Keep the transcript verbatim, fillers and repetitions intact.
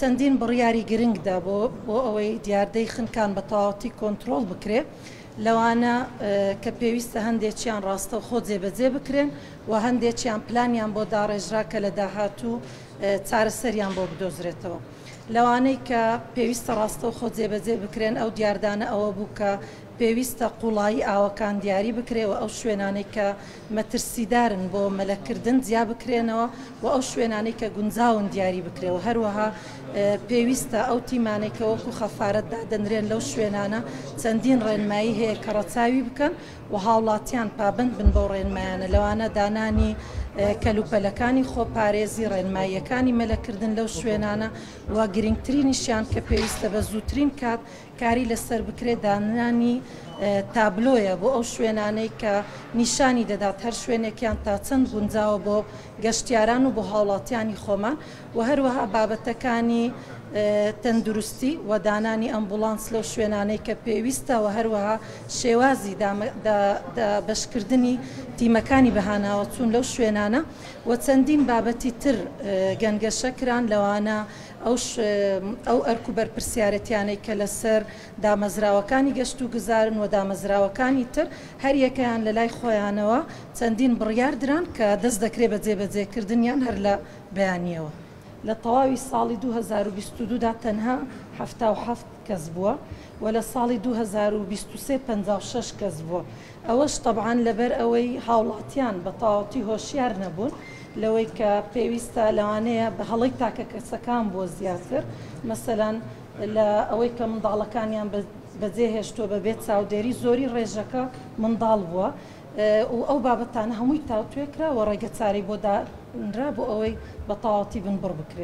چەندین بڕیاری گرنگدا بۆ بۆ ئەوەی دیاردەی خنکان بە تەواوەتی کۆنترۆڵ بکرێ، لەوانە کە پێویستە هەندێکیان ڕاستەوخۆ جێبەجێ بکرێن و هەندێکیان پلانیان بۆ داڕێژرا کە لە داهاتوو چارەسەریان بۆ بدۆزرێتەوە. لەوانەی کە پێویستە ڕاستەوخۆ جێبەجێ بکرێن ئەو دیاردانە ئەوە بوو کە پێویستە قوڵایی ئاوەکان دیاری بکرێ و ئەو شوێنانەی کە مەترسیدارن بۆ مەلەکردن جیا بکرێنەوە و ئەو شوێنانەی کە گونجاون دیاری بکرێەوە. هەروەها پێویستە ئەو تیمانەی کە وەکو خەفارەت دادەنرێن لەو شوێنانە چەندین ڕێنمایی هەیە کە ڕەچاوی بکەن و هاوڵاتیان پابند بن بەو ڕێنمایانە، لەوانە دانانی کەلوپەلەکانی خۆپارێزی، ڕێنماییەکانی مەلەکردن لەو شوێنانە و گرنگترینیشیان کە پێویستە بە زووترین کات کاری لەسەر بکرێت دانانی تابلۆیە بۆ ئەو شوێنانەی کە نیشانی دەدات هەر شوێنێکیان تا چەند گونجاوە بۆ گەشتیاران و بۆ هاوڵاتیانی خۆمان و هەروەها بابەتەکانی تەندروستی و دانانی ئەمبولانس لەو شوێنانەی کە پێویستە و هەروەها شێوازی بەشکردنی تیمەکانی بەهاناوە چوون لەو شوێنانە و چەندین بابەتی تر گەنگەشە کران، لەوانە ئەو ئەرک و بەرپرسیارەتیانەی کە لەسەر دامەزراوەکانی گەشت و گوزارن و دامەزراوەکانی تر هەریەکەیان لە لای خۆیانەوە چەندین بڕیار دران کە دەست دەکرێت بە جێبەجێکردنیان هەر لە بەیانیەوە. لە تەواوی ساڵی دوو هەزار و بیست و دوو دا تەنها حەفتا و حەفت کەس بووە و لە ساڵی دوو هەزار و بیست و سێ پەنجا و شەش کەس بووە. ئەوەش طبعاً لەبەر ئەوەی هاوڵاتیان بە تەواوەتی هۆشیار نەبوون لەوەی کە پێویستە لەوانەیە بە هەڵەی تاکە کەسەکان بووە زیاتر، مەسەلەن لە ئەوەی کە منداڵەکانیان بەجێهێشتووە بەبێت چاودێری زۆری ڕێژەکە منداڵ بووە و ئەو بابەتانە هەمووی تاوتوێ کرا و ڕێگە چارەی بۆ دانرا بۆ ئەوەی بە تەواوەتی بنبڕ بکرێت.